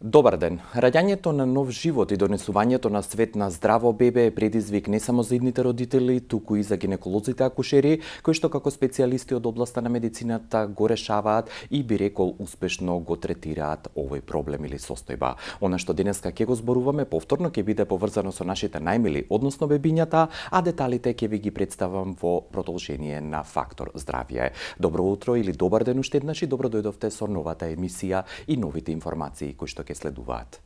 Добар ден. Раѓањето на нов живот и донесувањето на свет на здраво бебе е предизвик не само за идните родители, туку и за гинеколозите акушери, кои што како специјалисти од областа на медицината го решаваат и би рекол успешно го третираат овој проблем или состојба. Она што денеска ќе го зборуваме повторно ќе биде поврзано со нашите најмили, односно бебињата, а деталите ќе ви ги представам во продолжение на Фактор здравје. Добро утро или добар ден уште еднаш и добро дојдовте со новата емисија и новите информации кои што ќе следуваат.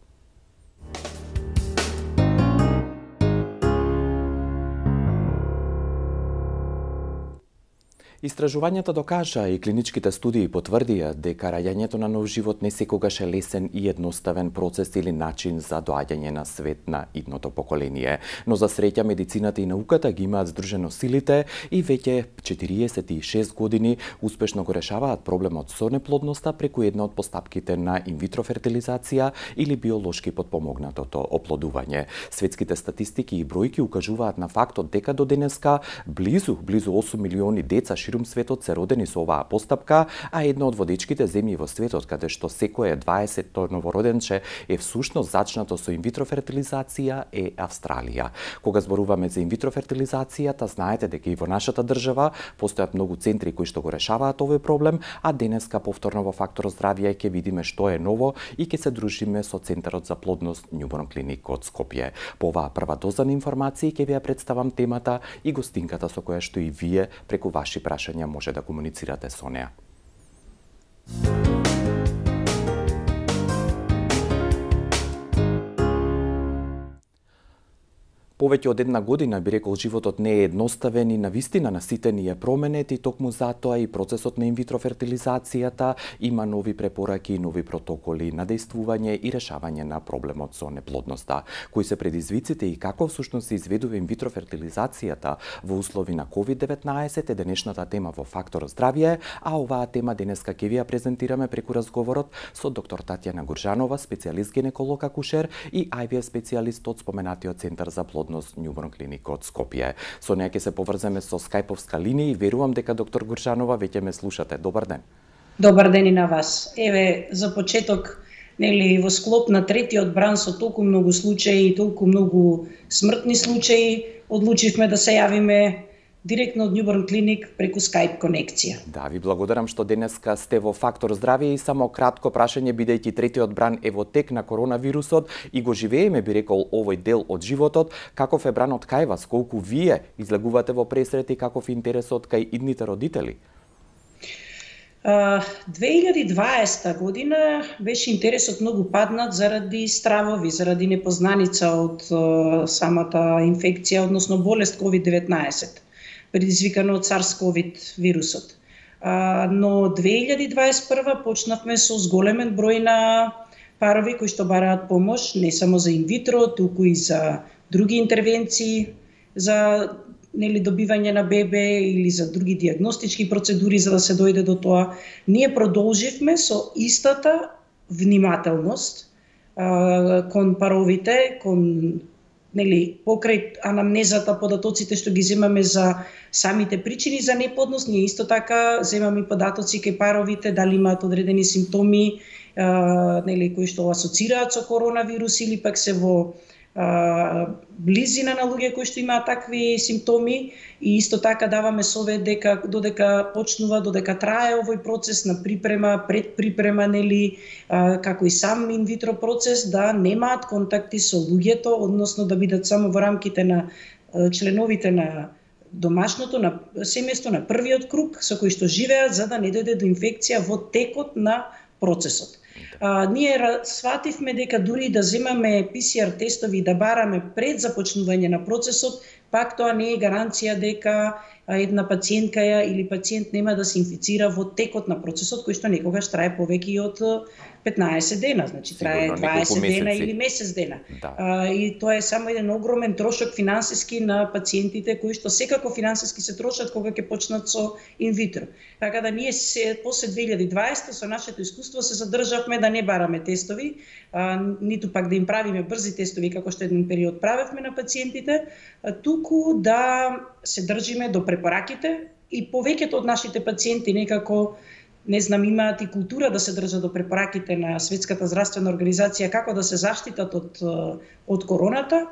Истражувањата докажа и клиничките студии потврдија дека раѓањето на нов живот не секогаш е лесен и едноставен процес или начин за доаѓање на свет на идното поколение. Но за среќа медицината и науката ги имаат здружено силите и веќе 46 години успешно го решаваат проблемот со неплодноста преку една од постапките на инвитро фертилизација или биолошки потпомогнатото оплодување. Светските статистики и бројки укажуваат на фактот дека до денеска близу 8 милиони деца ширум светот се родени со оваа постапка, а една од водечките земји во светот каде што секое 20-то новороденче е всушност зачнато со инвитро фертилизација е Австралија. Кога зборуваме за инвитро фертилизацијата, знаете дека и во нашата држава постојат многу центри кои што го решаваат овој проблем, а денеска повторно во Фактор здравје ќе видиме што е ново и ќе се дружиме со Центарот за плодност Newborn Clinic од Скопје. По оваа прва доза на информации ќе ви ја представам темата и гостинката со која што и вие преку ваши прашања може да комуницирате со неа. Повеќе од една година би рекол животот не е едноставен и навистина наситен е променет и токму затоа и процесот на инвитро фертилизацијата има нови препораки и нови протоколи на дејствување и решавање на проблемот со неплодноста. Кои се предизвиците и како всушност се изведува инвитро фертилизацијата во услови на COVID-19 е денешната тема во Фактор здравје, а оваа тема денеска ќе ви ја презентираме преку разговорот со доктор Татјана Гуржанова, специјалист гинеколог акушер и IVF специјалист од споменатиот Центар за плодност Newborn Clinic од Скопје. Со неа ќе се поврземе со скајповска линија и верувам дека доктор Гуржанова веќе ме слушате. Добар ден. Добар ден и на вас. Еве за почеток, во склоп на третиот бран со толку многу случаи и толку многу смртни случаи, одлучивме да се јавиме директно од Newborn Clinic преку Skype конекција. Да, ви благодарам што денеска сте во Фактор здравје и само кратко прашање, бидејќи третиот бран е во тек на коронавирусот и го живееме, би рекол, овој дел од животот, каков е бранот кај вас, колку вие излегувате во пресрети, каков е интересот кај идните родители? 2020 година беше интересот многу паднат заради стравови, заради непознаница од самата инфекција, односно болест COVID-19. Предизвикано од SARS-CoV вирусот. Но 2021 почнавме со зголемен број на парови кои што бараат помош, не само за инвитро, туку и за други интервенции, за добивање на бебе или за други диагностички процедури за да се дојде до тоа. Ние продолживме со истата внимателност кон паровите, кон покрај анамнезата, податоците што ги земаме за самите причини за неплодност, ние исто така земаме податоци кај паровите, дали имаат одредени симптоми, кои што асоцираат со коронавирус или пак се во близина на луѓе кои што имаат такви симптоми, и исто така даваме совет дека додека почнува, додека трае овој процес на припрема, предприпрема, како и сам инвитро процес, да немаат контакти со луѓето, односно да бидат само во рамките на членовите на домашното, на семејство, на првиот круг со кои што живеат, за да не дојде до инфекција во текот на процесот. Ние свативме дека дури да земаме PCR тестови и да бараме пред започнување на процесот, пак тоа не е гаранција дека една пациентка или пациент нема да се инфицира во текот на процесот, кој што некогаш трае повеќе од 15 дена, значи трае 20 дена или месец дена. Да. И тоа е само еден огромен трошок финансиски на пациентите кои што секако финансиски се трошат кога ќе почнат со инвитро. Така да ние после 2020 со нашето искуство се задржавме да не бараме тестови, ниту пак да им правиме брзи тестови како што еден период правевме на пациентите, туку да се држиме до препораките и повеќето од нашите пациенти некако не знам, имаат и култура да се држат до препораките на Светската здравствена организација како да се заштитат од короната.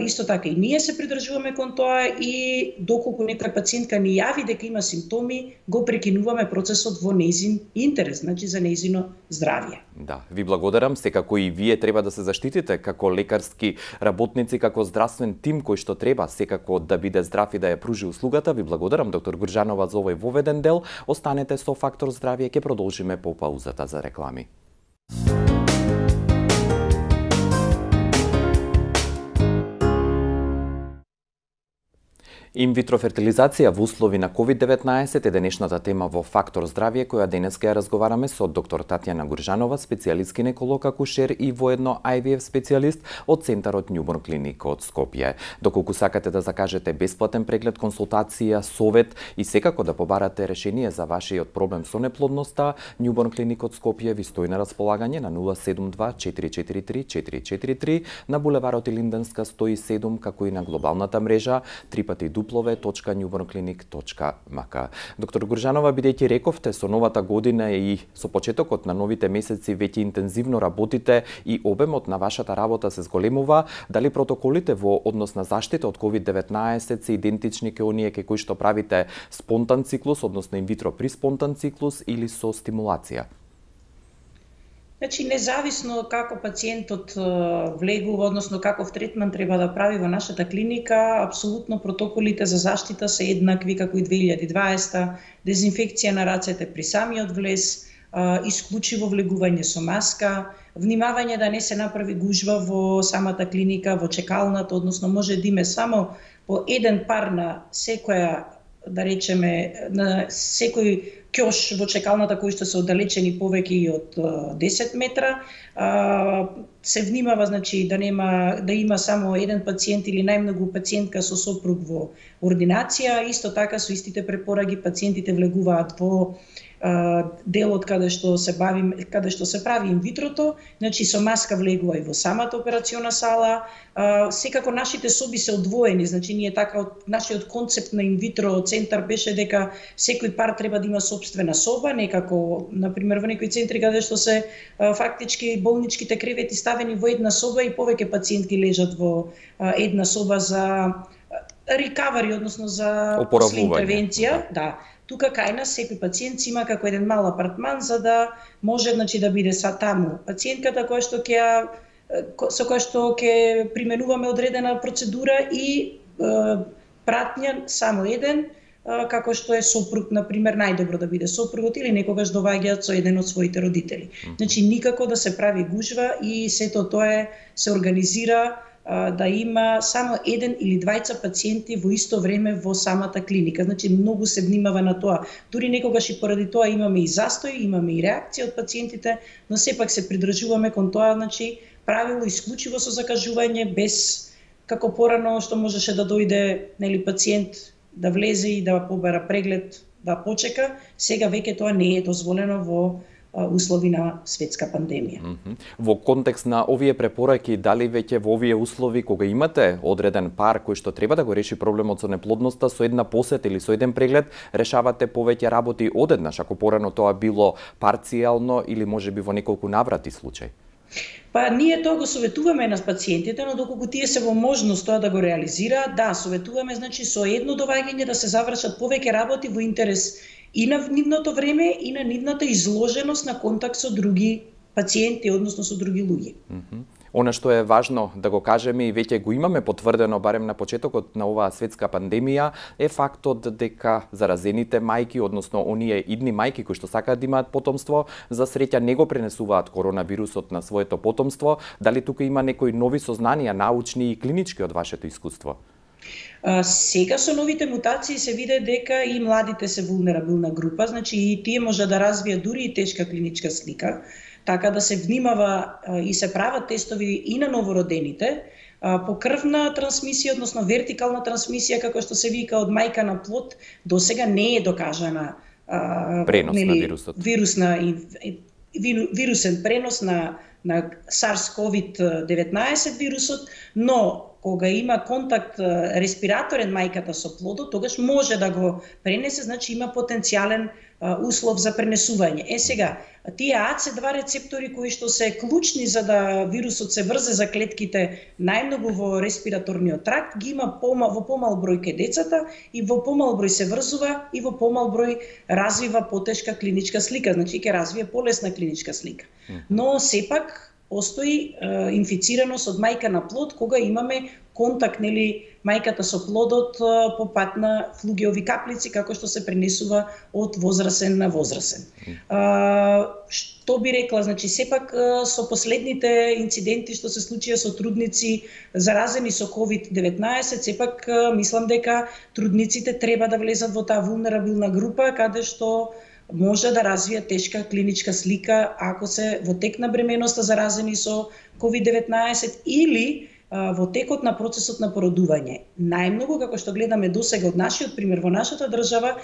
Исто така и ние се придржуваме кон тоа и доколку некоја пациентка ни јави дека има симптоми, го прекинуваме процесот во нејзин интерес, значи за нејзино здравје. Да, ви благодарам. Секако и вие треба да се заштитите како лекарски работници, како здравствен тим кој што треба секако да биде здрав и да ја пружи услугата. Ви благодарам, доктор Гурџанова, за овој воведен дел. Останете со Фактор здравје, ќе продолжиме по паузата за реклами. Инвитро фертилизација во услови на COVID-19 е денешната тема во Фактор здравје, која денес ќе ја разговараме со доктор Татјана Гурџанова, специјалист гинеколог, акушер и воедно IVF специјалист од Центарот Њуборн Клиник од Скопје. Доколку сакате да закажете бесплатен преглед, консултација, совет и секако да побарате решение за вашиот проблем со неплодноста, Њуборн Клиник од Скопје ви стои на располагање на 072 443 443 на булеварот Илинденска 107, како и на глобалната мрежа www.newbornclinic.mk. Доктор Гурџанова, бидејќи рековте со новата година и со почетокот на новите месеци веќе интензивно работите и обемот на вашата работа се зголемува, дали протоколите во однос на заштита од COVID-19 се идентични ке оние ке кои што правите спонтан циклус, односно инвитро при спонтан циклус или со стимулација? Значи, независно како пациентот влегува, односно каков третман треба да прави во нашата клиника, апсолутно протоколите за заштита се еднакви како и 2020, дезинфекција на рацете при самиот влез, исклучиво влегување со маска, внимавање да не се направи гужва во самата клиника, во чекалната, односно може да име само по еден пар на секоја, да речеме, на секој ќош во чекалната кои што се оддалечени повеќе и од 10 метра. Се внимава, значи, да има само еден пациент или најмногу пациентка со сопруг во ординација. Исто така со истите препораки пациентите влегуваат во делот каде што се прави инвитрото, значи со маска влегува и во самата операциона сала. Секако нашите соби се одвоени, значи ние така нашиот концепт на инвитро центар беше дека секој пар треба да има собствена соба, некако например во некои центри каде што се фактички болничките кревети ставени во една соба и повеќе пациентки лежат во една соба за рекавари, односно за после интервенција, да. Тука кај нас секој пациент има како еден мал апартман за да може, значи, да биде таму пациентката со која што ќе применуваме одредена процедура и пратња само еден, како што е сопруг, например, најдобро да биде сопругот или некогаш доваѓаат со еден од своите родители. Значи никако да се прави гужва и сето тоа се организира да има само еден или двајца пациенти во исто време во самата клиника. Значи многу се внимава на тоа. Дури некогаш и поради тоа имаме и застој, имаме и реакција од пациентите, но сепак се придржуваме кон тоа, значи правило исклучиво со закажување, без како порано што можеше да дојде, нели, пациент да влезе и да побара преглед, да почека. Сега веќе тоа не е дозволено во услови на светска пандемија. Во контекст на овие препораки, дали веќе во овие услови, кога имате одреден пар кој што треба да го реши проблемот со неплодноста, со една посета или со еден преглед, решавате повеќе работи одеднаш, ако порано тоа било парцијално или можеби во неколку наврати случај? Па ние тоа го советуваме на пациентите, но доколку тие се во можност тоа да го реализираат, да, советуваме, значи со едно доваѓање да се завршат повеќе работи во интерес и на нивното време и на нивната изложеност на контакт со други пациенти, односно со други луѓе. Она што е важно да го кажеме и веќе го имаме потврдено барем на почетокот на оваа светска пандемија е фактот дека заразените мајки, односно оние идни мајки кои што сакаат да имаат потомство, за среќа не го пренесуваат коронавирусот на своето потомство. Дали тука има некои нови сознанија, научни и клинички од вашето искуство? Сега со новите мутации се виде дека и младите се вулнерабилна група, значи и тие може да развијат дури и тешка клиничка слика, така да се внимава и се прават тестови и на новородените по крвна трансмисија, односно вертикална трансмисија, како што се вика, од мајка на плод, до сега не е докажана пренос на вирусот. Вирусен пренос на на SARS-CoV-19 вирусот, но кога има контакт респираторен мајката со плодот, тогаш може да го пренесе, значи има потенцијален услов за пренесување. Сега, тие AC2 рецептори кои што се клучни за да вирусот се врзе за клетките најмногу во респираторниот тракт, ги има во помал број кај децата и во помал број се врзува и во помал број развива потешка клиничка слика, значи ќе развие полесна клиничка слика. Но сепак постои инфицираност од мајка на плод кога имаме контакт, нели, мајката со плодот по пат на флугеови каплици, како што се пренесува од возрасен на возрасен. Што би рекла, значи сепак со последните инциденти што се случија со трудници заразени со COVID-19, сепак мислам дека трудниците треба да влезат во таа вулнерабилна група каде што може да развие тешка клиничка слика ако се во тек на бременоста заразени со COVID-19 или во текот на процесот на породување. Најмногу, како што гледаме досега од нашиот пример во нашата држава,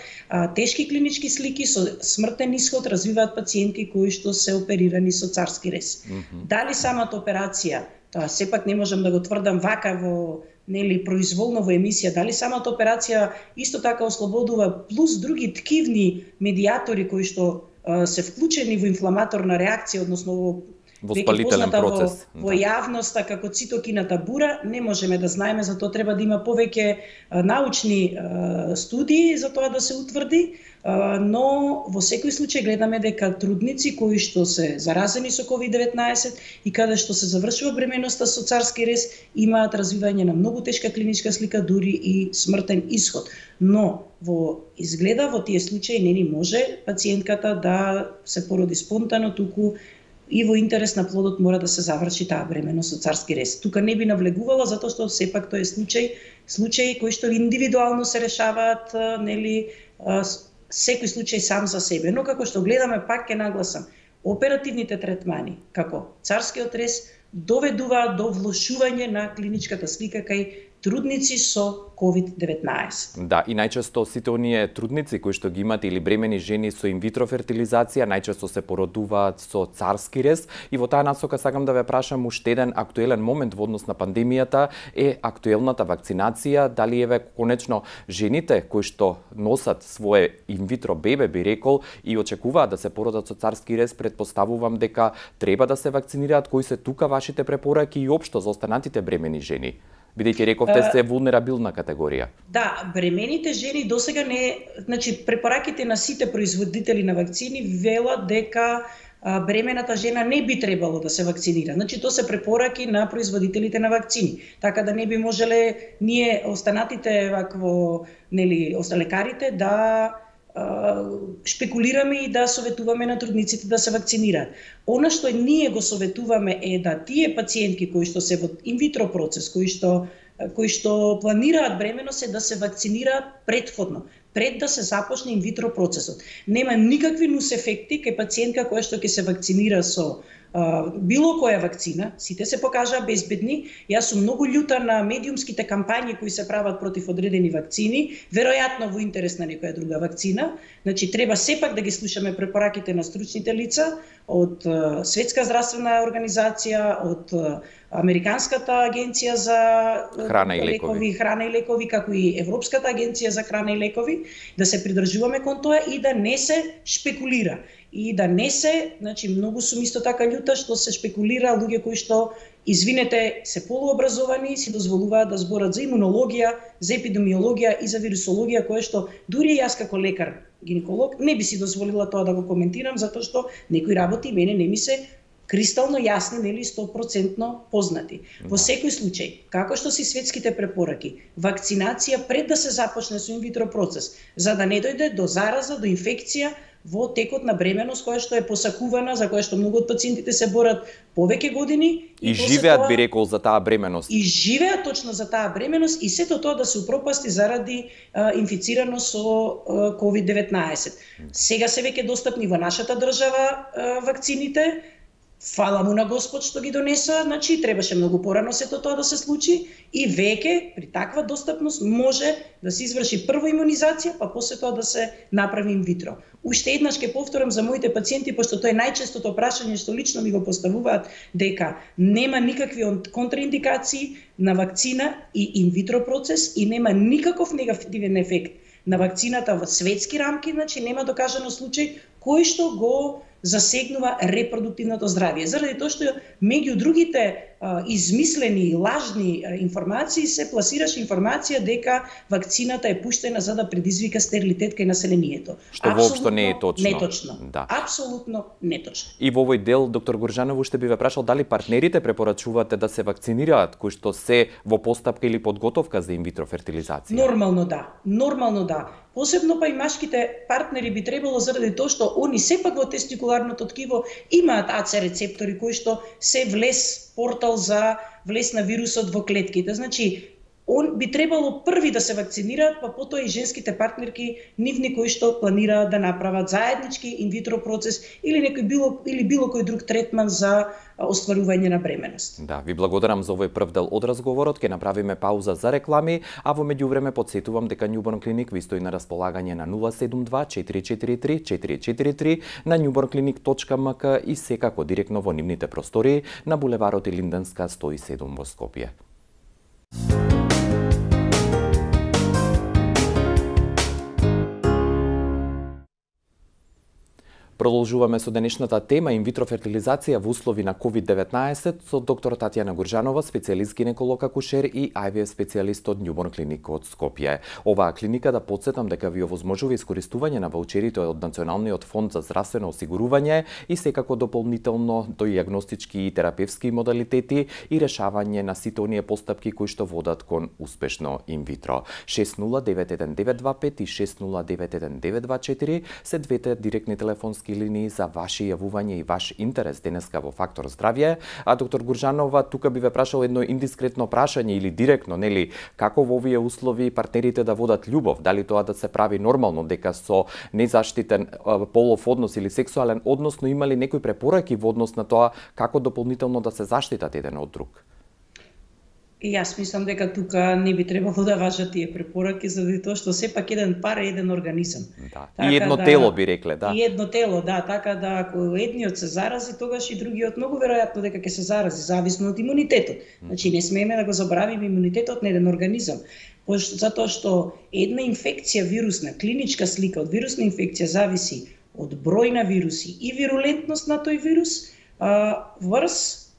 тешки клинички слики со смртен исход развиваат пациенти кои што се оперирани со царски рез. Дали самата операција, тоа сепак не можам да го тврдам вака во произволно во емисија, дали самата операција исто така ослободува плюс други ткивни медиатори кои што се вклучени во инфламаторна реакција, односно во спалителен процес. Во јавноста како цитокината бура, не можеме да знаеме, затоа треба да има повеќе научни студии за тоа да се утврди, но во секој случај гледаме дека трудници кои што се заразени со COVID-19 и каде што се завршува бременоста со царски рез имаат развивање на многу тешка клиничка слика, дури и смртен исход. Но изгледа во тие случаи не ни може пациентката да се породи спонтано, туку и во интерес на плодот мора да се заврши таа бременост со царски рез. Тука не би навлегувала затоа што сепак тој е случај кои што индивидуално се решаваат, нели, секој случај сам за себе. Но како што гледаме, пак ќе нагласам, оперативните третмани како царскиот рез доведуваат до влошување на клиничката слика кај трудници со COVID-19. Да, и најчесто сите оние трудници кои што ги имат или бремени жени со инвитро фертилизација најчесто се породуваат со царски рез и во таа насока сакам да ве прашам уште еден актуелен момент во однос на пандемијата е актуелната вакцинација, дали еве конечно жените кои што носат свое инвитро бебе, би рекол, и очекуваат да се породат со царски рез, предпоставувам дека треба да се вакцинираат. Кои се тука вашите препораки и општо за останатите бремени жени? Бидејќи рековте се вулнерабилна категорија. Да, бремените жени досега не, значи препораките на сите производители на вакцини велат дека бремената жена не би требало да се вакцинира. Значи тоа се препораки на производителите на вакцини. Така да не би можеле ние останатите вакво, нели, лекарите да шпекулираме и да советуваме на трудниците да се вакцинираат. Она што ние го советуваме е да тие пациентки кои што се во инвитро процес, кои што планираат бременост, е да се вакцинираат предходно, пред да се започне инвитро процесот. Нема никакви нус ефекти кај пациентка која што ќе се вакцинира со било која вакцина, сите се покажаа безбедни. Јас сум многу љута на медиумските кампањи кои се прават против одредени вакцини, веројатно во интерес на некоја друга вакцина. Значи треба сепак да ги слушаме препораките на стручните лица од Светска здравствена организација, од Американската агенција за храна и лекови, како и Европската агенција за храна и лекови, да се придржуваме кон тоа и да не се шпекулира. И да не се, значи многу сум исто така љута што се шпекулира луѓе кои што, извинете, се полуобразовани, си дозволуваат да зборат за имунологија, за епидемиологија и за вирусологија, кое што дури јас како лекар, гинеколог, не би си дозволила тоа да го коментирам, затоа што некои работи мене не ми се кристално јасни, нели 100% познати. Во секој случај, како што си светските препораки, вакцинација пред да се започне со инвитро процес, за да не дојде до зараза, до инфекција во текот на бременост која што е посакувана, за која што многу од пациентите се борат повеќе години и живеат, би рекол, за таа бременост. И живеат точно за таа бременост и сето тоа да се упропасти заради инфицираност со COVID-19. Сега се веќе достапни во нашата држава вакцините. Фала му на Господ што ги донесоа, значи требаше многу порано сето тоа да се случи и веќе при таква достапност може да се изврши прво имунизација, па после тоа да се направи инвитро. Уште еднаш ќе повторам за моите пациенти, пошто тоа е најчестото прашање што лично ми го поставуваат, дека нема никакви контраиндикации на вакцина и инвитро процес и нема никаков негативен ефект на вакцината во светски рамки, значи нема докажано случај кој што го засегнува репродуктивното здравје. Заради тоа што меѓу другите измислени и лажни информации се пласираше информација дека вакцината е пуштена за да предизвика стерилитет кај населението. Што воопшто не е точно. Неточно. Да. Апсолутно неточно. И во овој дел, доктор Горжанов, уште би ве прашал дали партнерите препорачувате да се вакцинираат, кои што се во постапка или подготовка за инвитро фертилизација? Нормално да. Нормално да. Посебно па и машките партнери би требало заради тоа што они сепак во тестикуларното ткиво имаат АЦ рецептори кои што се портал за влез на вирусот во клетките. Значи, он би требало први да се вакцинираат, па потоа и женските партнерки, нивни кои што планираат да направат заеднички инвитро процес или било кој друг третман за остварување на бременост. Да, ви благодарам за овој прв дел од разговорот. Ќе направиме пауза за реклами, а во меѓувреме потсетувам дека Newborn Clinic ви стои на располагање на 072 443 443 на newbornclinic.mk и секако директно во нивните простории на булеварот Илинденска 107 во Скопје. Продолжуваме со денешната тема инвитро фертилизација во услови на COVID-19 со доктор Татјана Горжанова, специјалист гинеколог акушер и IVF специјалист од Newborn Clinic од Скопје. Оваа клиника, да потсетам дека ви овозможува искористување на ваучерите од Националниот фонд за здравствено осигурување и секако дополнително до дијагностички и терапевски модалитети и решавање на сите оние постапки кои што водат кон успешно инвитро. 609195 и 609194 се двете директни телефонски линии за ваши јавување и ваш интерес денеска во Фактор здравје. А доктор Горжанова, тука би ве прашал едно индискретно прашање или директно, нели, како во овие услови партнерите да водат љубов? Дали тоа да се прави нормално, дека со незаштитен полов однос или сексуален однос, но имали некои препораки во однос на тоа како дополнително да се заштитат еден од друг? И јас мислам дека тука не би требало да важат тие препораки, заради тоа што сепак еден пар е еден организам. Да. И едно тело би рекле, да. И едно тело, да, така да ако едниот се зарази, тогаш и другиот многу веројатно дека ќе се зарази, зависно од имунитетот. Значи не смееме да го забравиме имунитетот на еден организам. Затоа што една инфекција вирусна, клиничка слика од вирусна инфекција зависи од број на вируси и вирулентност на тој вирус,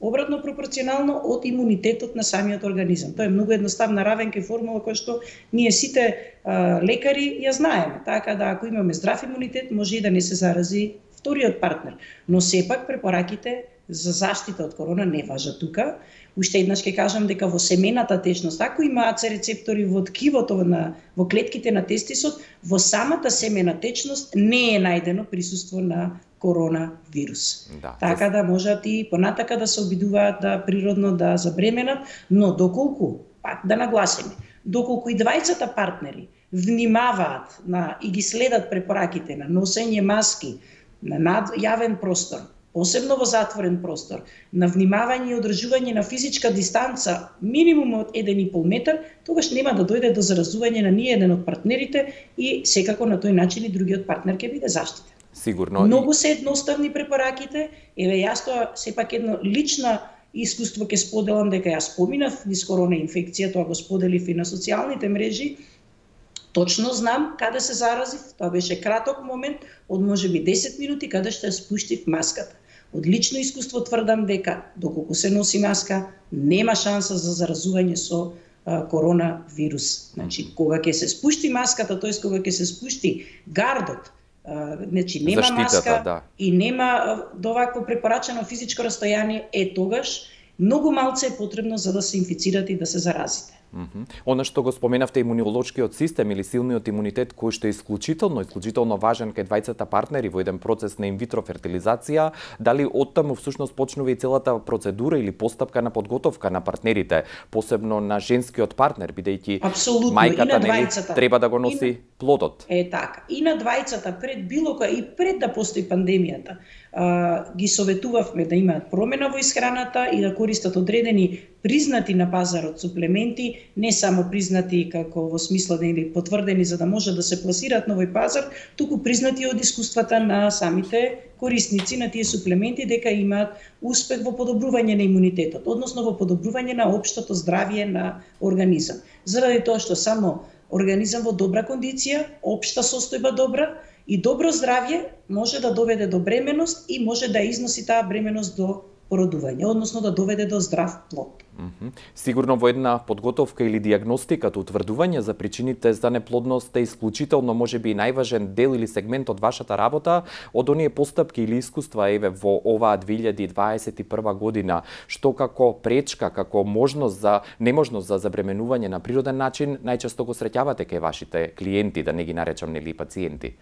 обратно пропорционално од имунитетот на самиот организам. Тоа е многу едноставна равенка и формула која што ние сите лекари ја знаеме. Така да ако имаме здрав имунитет, може и да не се зарази вториот партнер. Но сепак препораките за заштита од корона не важат тука. Уште еднаш ќе кажам дека во семената течност, ако има АЦ рецептори во ткивото во клетките на тестисот, во самата семена течност не е најдено присуство на коронавирус. Да, така да можат и понатака да се обидуваат да природно да забременат, но доколку, пак да нагласиме, доколку и двајцата партнери внимаваат и ги следат препораките на носење маски на јавен простор, посебно во затворен простор, на внимавање и одржување на физичка дистанца минимум од 1,5 метар, тогаш нема да дојде до заразување на ниеден од партнерите и секако на тој начин и другиот партнер ќе биде заштитен. Сигурно. Многу се едноставни препораките. Еве јас тоа сепак едно лично искуство ќе споделам дека јас поминав низ корона инфекција, тоа го споделив и на социјалните мрежи. Точно знам каде се заразив, тоа беше краток момент од можеби 10 минути каде што ја спуштив маската. Од лично искуство тврдам дека доколку се носи маска, нема шанса за заразување со коронавирус. Значи, кога ќе се спушти маската, тоест кога ќе се спушти гардот, значи нема маска, да. И нема довакво препорачено физичко растојание, тогаш многу малце е потребно за да се инфицирате и да се заразите. Она што го споменавте, имунолошкиот систем или силниот имунитет, кој што е исклучително важен кај двајцата партнери во еден процес на инвитро фертилизација, дали оттаму всушност почнува и целата процедура или постапка на подготовка на партнерите, посебно на женскиот партнер, бидејќи мајката нели треба да го носи плодот. Така. И на двајцата пред било која и пред да постои пандемијата, ги советувавме да имаат промена во исхраната и да користат одредени признати на пазарот суплементи, не само признати како во смисла да или потврдени за да може да се пласираат на овој пазар, туку признати од искуствата на самите корисници на тие суплементи дека имаат успех во подобрување на имунитетот, односно во подобрување на општото здравје на организам. Заради тоа што само организам во добра кондиција, општа состојба добра и добро здравје може да доведе до бременост и може да износи таа бременост до породување, односно да доведе до здрав плод. Сигурно во една подготовка или диагностиката, утврдување за причините за неплодност е исклучително можеби и најважен дел или сегмент од вашата работа, од оние постапки или искуства еве во оваа 2021 година, што како пречка, како неможност за забременување на природен начин најчесто го среќавате кај вашите клиенти, да не ги наречам нели пациенти?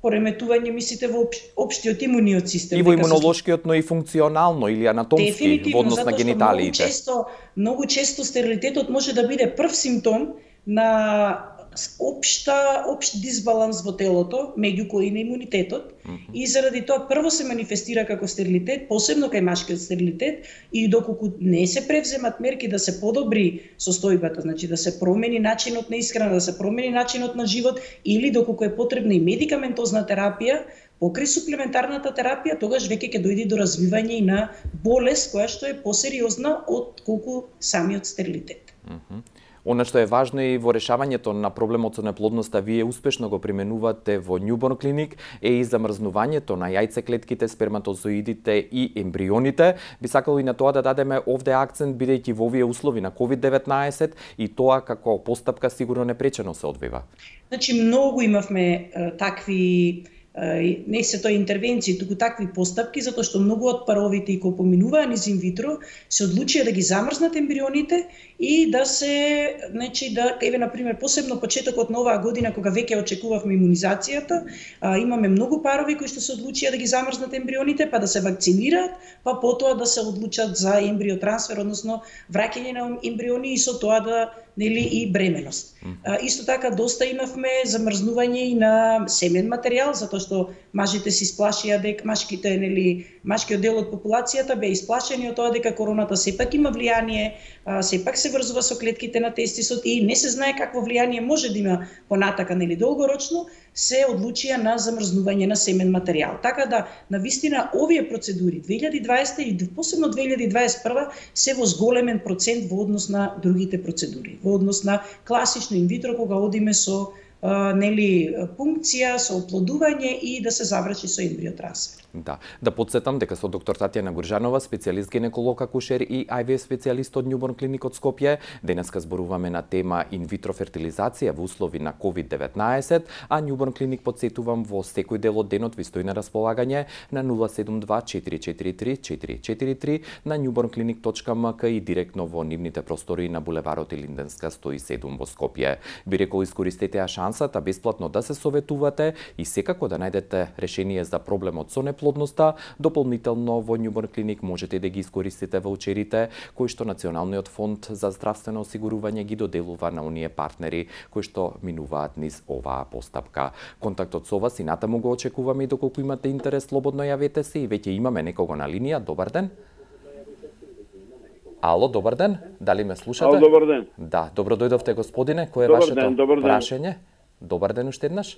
Пореметување мислите во општиот имуниот систем. И во имунолошкиот, но и функционално или анатомски во однос на гениталиите. Многу често стерилитетот може да биде прв симптом на општ дисбаланс во телото, меѓу кои на имунитетот, и заради тоа прво се манифестира како стерилитет, посебно кај машкиот стерилитет, и доколку не се превземат мерки да се подобри состојбата, значи да се промени начинот на исхрана, да се промени начинот на живот, или доколку е потребна и медикаментозна терапија, покрај суплементарната терапија, тогаш веќе ќе дојде до развивање и на болест која што е посериозна од колку самиот стерилитет. Она што е важно и во решавањето на проблемот со неплодноста, вие успешно го применувате во Newborn Clinic, е и замрзнувањето на јајцеклетките, сперматозоидите и ембрионите. Би сакало и на тоа да дадеме овде акцент, бидејќи во овие услови на COVID-19 и тоа како постапка сигурно непречено се одвива. Значи, многу имавме такви не се тоа интервенции, туку такви постапки, затоа што многу од паровите и кои поминуваа низ инвитро се одлучија да ги замрзнат ембрионите и да се, значи да еве на пример посебно почетокот на оваа година кога веќе очекувавме имунизацијата, имаме многу парови кои што се одлучија да ги замрзнат ембрионите, па да се вакцинираат, па потоа да се одлучат за ембриотрансфер, односно враќање на ембриони и со тоа да нели и бременост. Исто така доста имавме замрзнување и на семен материјал, затоа што мажите се исплашија дека машкиот дел од популацијата беа исплашени од тоа дека короната сепак има влијание, сепак се врзува со клетките на тестисот и не се знае какво влијание може да има понатака нели долгорочно, се одлучија на замрзнување на семен материјал. Така да, навистина, овие процедури 2020 и посебно 2021 се во зголемен процент во однос на другите процедури, во однос на класично инвитро кога одиме со пункција, со оплодување и да се заврши со ембриотрансфер. Да подсетам дека со доктор Татјана Гуржанова, специјалист гинеколог акушер и IVF специјалист од Newborn Clinic од Скопје, денеска зборуваме на тема инвитро фертилизација во услови на COVID-19, а Newborn Clinic подсетувам во секој дел од денот ви стои на располагање на 072-443-443 на newbornclinic.mk и директно во нивните простори на булеварот Илинденска 107 во Скопје. Би рекол, искористете ја шансата бесплатно да се советувате и секако да најдете решение за проблемот со неплодноста. Дополнително во Newborn Clinic можете да ги искористите ваучерите кои што Националниот фонд за здравствено осигурување ги доделува на оние партнери кои што минуваат низ оваа постапка. Контактот со вас и натаму го очекуваме и доколку имате интерес, слободно јавете се и веќе имаме некого на линија. Добар ден. Ало, добар ден. Дали ме слушате? Ало, добар ден. Да, добро дојдовте, господине. Кој е вашето прашање? Добар ден уште еднаш.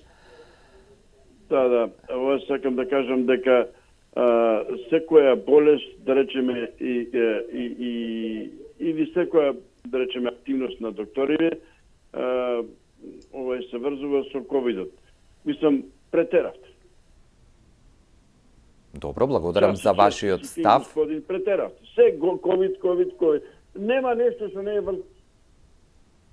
Да. Ова сакам да кажам дека секоја болест, да речеме, или секоја, да речеме, активност на докторите, ова се врзува со ковидот. Мислам, претеравте. Добро, благодарам за вашиот став. Господин, претеравте. Се ковид. Нема нешто што не е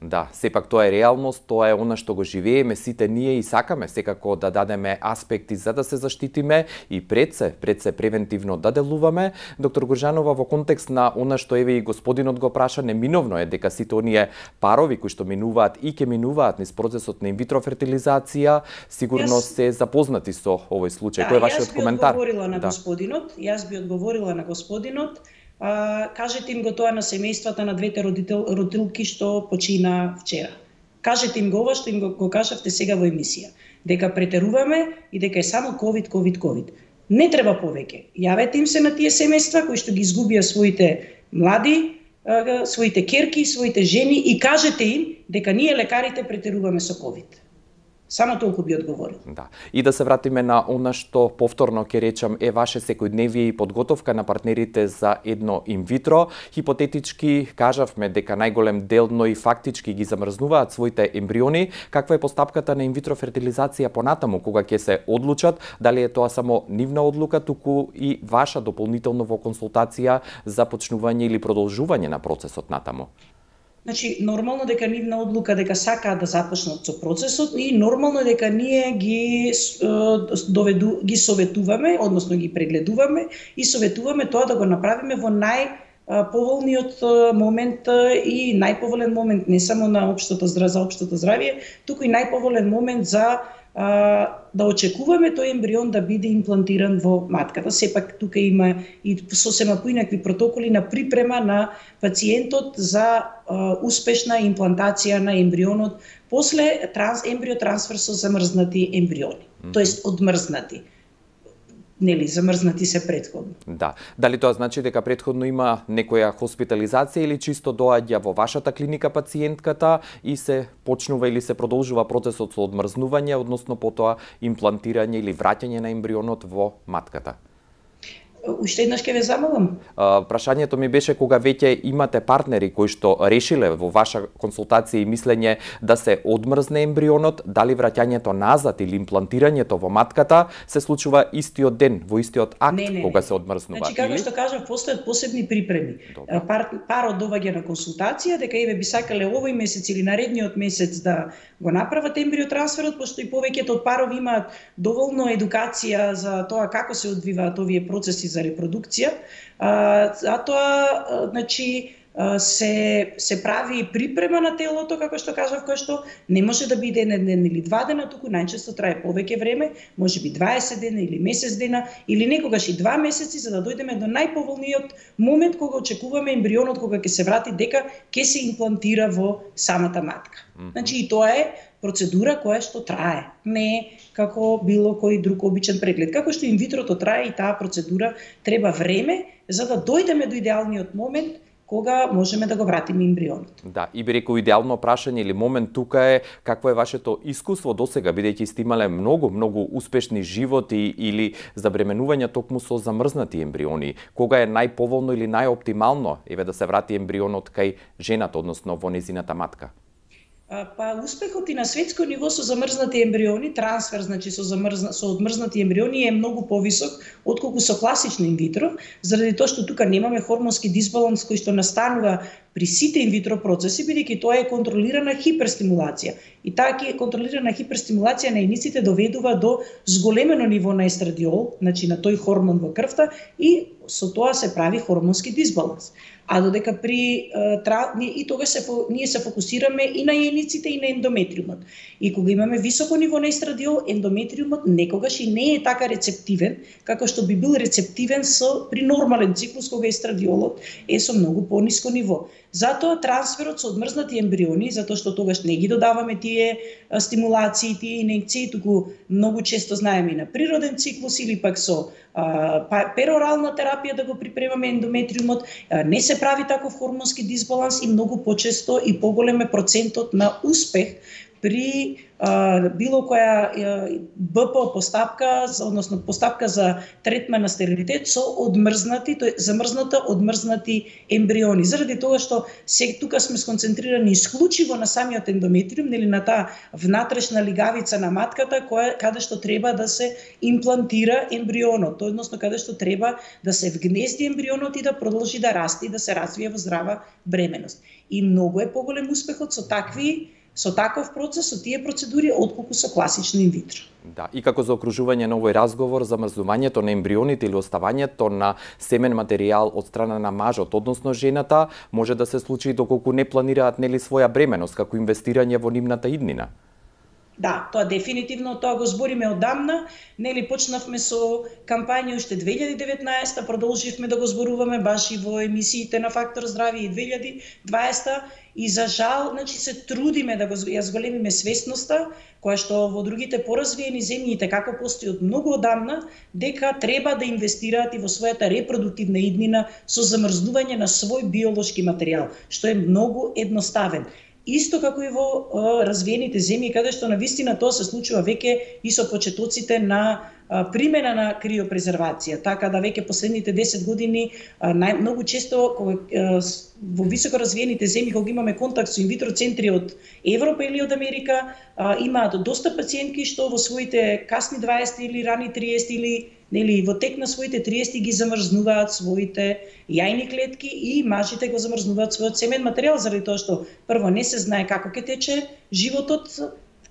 Да, сепак тоа е реалност, тоа е она што го живееме сите ние и сакаме секако да дадеме аспекти за да се заштитиме и пред се превентивно да делуваме. Доктор Гуржанова, во контекст на она што еве и господинот го праша, неминовно е дека сите оние парови кои што минуваат и ќе минуваат низ процесот на инвитро фертилизација, сигурно се запознати со овој случај. Кој е вашиот коментар? Јас би одговорила на господинот. Кажете им го тоа на семејствата на двете родилки што почина вчера. Кажете им го ова што им го кажавте сега во емисија. Дека претеруваме и дека е само COVID. Не треба повеќе. Јавете им се на тие семејства кои што ги изгубија своите млади, своите керки, своите жени и кажете им дека ние лекарите претеруваме со COVID. Само толку би одговорил. Да. И да се вратиме на она што повторно ќе речам е ваше секојдневие и подготовка на партнерите за едно инвитро. Хипотетички кажавме дека најголем дел, но и фактички ги замрзнуваат своите ембриони. Каква е постапката на инвитро фертилизација понатаму кога ќе се одлучат? Дали е тоа само нивна одлука, туку и ваша дополнително во консултација за почнување или продолжување на процесот натаму? Значи, нормално дека нивна одлука дека сакаат да започнат со процесот и нормално дека ние ги советуваме, односно ги прегледуваме и советуваме тоа да го направиме во најповолниот момент и најповолен момент не само на за општото здравје, туку и најповолен момент за да очекуваме тој ембрион да биде имплантиран во матката. Сепак тука има и сосема поинакви протоколи на припрема на пациентот за успешна имплантација на ембрионот после ембриотрансфер со замрзнати ембриони, тоест одмрзнати. Нели, замрзнати се претходно. Да. Дали тоа значи дека претходно има некоја хоспитализација или чисто доаѓа во вашата клиника пациентката и се почнува или се продолжува процесот со одмрзнување, односно потоа имплантирање или враќање на ембрионот во матката? Уште еднаш ќе ве замолам. Прашањето ми беше кога веќе имате партнери кои што решиле во ваша консултација и мислење да се одмрзне ембрионот, дали враќањето назад или имплантирањето во матката се случува истиот ден, во истиот акт кога се одмрзнува? Значи, како што кажав, постојат посебни припреми. Парот доаѓа на консултација дека еве би сакале овој месец или наредниот месец да го направат ембриотрансферот, пошто и повеќето од парови имаат доволно едукација за тоа како се одвиваат овие процеси за репродукција, затоа значи се прави припрема на телото, како што кажав, кој што не може да биде еден ден или 2 дена, туку најчесто трае повеќе време, можеби 20 дена или месец дена, или некогаш и 2 месеци, за да дојдеме до најповолниот момент кога очекуваме ембрионот кога ќе се врати дека ќе се имплантира во самата матка. Значи и тоа е процедура која што трае, не како било кој друг обичен преглед. Како што инвитрото трае и таа процедура треба време за да дојдеме до идеалниот момент кога можеме да го вратиме ембрионот. Да, и би рекол идеално прашање или момент тука е какво е вашето искуство досега, бидејќи сте имале многу успешни животи или забременувања токму со замрзнати ембриони. Кога е најповолно или најоптимално да се врати ембрионот кај жената, односно во незината матка? Па успехот и на светско ниво со замрзнати ембриони, трансфер значи со одмрзнати ембриони е многу повисок отколку со класично инвитро, заради тоа што тука немаме хормонски дисбаланс кој што настанува при сите инвитро процеси, бидејќи тоа е контролирана хиперстимулација. И таа контролирана хиперстимулација на јајниците доведува до зголемено ниво на естрадиол, значи на тој хормон во крвта, и со тоа се прави хормонски дисбаланс. А додека и тогаш ние се фокусираме и на јајниците и на ендометриумот. И кога имаме високо ниво на естрадиол, ендометриумот некогаш и не е така рецептивен како што би бил рецептивен при нормален циклус кога естрадиолот е со многу пониско ниво. Затоа трансферот со одмрзнати ембриони, затоа што тогаш не ги додаваме тие стимулации, тие инекции, туку многу често знаеме и на природен циклус или пак со перорална терапија да го припремаме ендометриумот, не се прави таков хормонски дисбаланс и многу почесто и поголем е процентот на успех при било која БПО постапка, односно постапка за третман на стерилитет со одмрзнати, тој одмрзнати ембриони. Заради тоа што тука сме сконцентрирани исклучиво на самиот ендометриум, нели на таа внатрешна лигавица на матката каде што треба да се имплантира ембрионот, односно каде што треба да се вгнезди ембрионот и да продолжи да расте и да се развие во здрава бременост. И многу е поголем успехот со таков процес, со тие процедури, отколку со класично инвитро. Да, и како заокружување на овој разговор, замрзнувањето на ембрионите или оставањето на семен материјал од страна на мажот, односно жената, може да се случи доколку не планираат нели своја бременост, како инвестирање во нивната иднина. Да, тоа дефинитивно, тоа го збориме одамна, нели почнавме со кампања уште 2019, продолживме да го зборуваме баш и во емисиите на Фактор здравје и 2020, и за жал, значи се трудиме да ја зголемиме свесноста, која што во другите поразвиени земји како постои од многу одамна, дека треба да инвестираат и во својата репродуктивна иднина со замрзнување на свој биолошки материјал, што е многу едноставен. Исто како и во развиените земји, каде што навистина тоа се случува веќе и со почетоците на примена на криопрезервација, така да веќе последните 10 години многу често во високо развиените земји кога имаме контакт со инвитро центри од Европа или од Америка, имаат доста пациентки што во своите касни 20 или рани 30 или нели во тек на своите 30 ги замрзнуваат своите јајни клетки и мажите го замрзнуваат својот семен материјал, заради тоа што прво не се знае како ќе тече животот,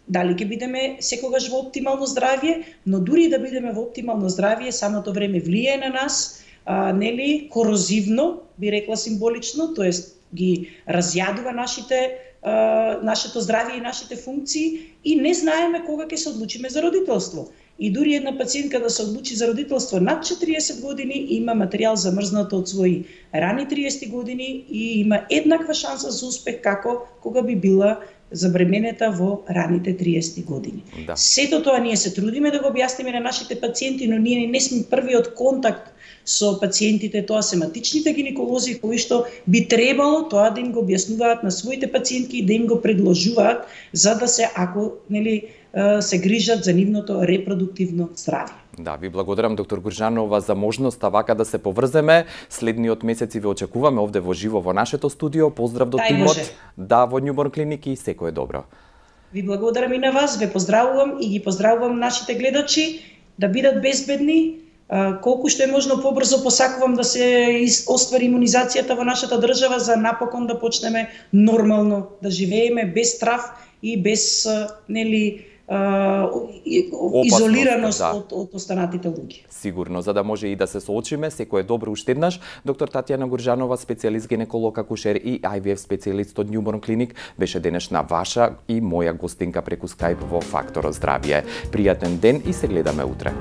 дали ќе бидеме секогаш во оптимално здравје, но дури да бидеме во оптимално здравје, самото време влијае на нас, нели корозивно, би рекла символично, тоест ги разјадува нашето здравје и нашите функции и не знаеме кога ќе се одлучиме за родителство. И дури една пациентка да се одлучи за родителство над 40 години има материјал замрзнат од своји рани 30 години и има еднаква шанса за успех како кога би била забременета во раните 30 години. Да. Сето тоа ние се трудиме да го објасниме на нашите пациенти, но ние не сме првиот контакт со пациентите, тоа се матичните гинеколози кои што би требало тоа да им го објаснуваат на своите пациентки и да им го предложуваат за да се се грижат за нивното репродуктивно здравје. Да, ви благодарам доктор Гуржанова за можноста вака да се поврземе. Следниот месец ве очекуваме овде во живо во нашето студио. Поздрав до тимот. Да, во Њуборн клиники и секое добро. Ви благодарам и на вас, ве поздравувам и ги поздравувам нашите гледачи да бидат безбедни. Колку што е можно побрзо посакувам да се оствари имунизацијата во нашата држава за напокон да почнеме нормално да живееме без страв и без изолираност од останатите луѓе. Сигурно, за да може и да се соочиме, секое добро уште еднаш. Доктор Татјана Гуржанова, специјалист гинеколог, акушер и IVF специјалист од Њуборн клиник, беше денешна ваша и моја гостинка преку Skype во Фактор здравје. Пријатен ден и се гледаме утре.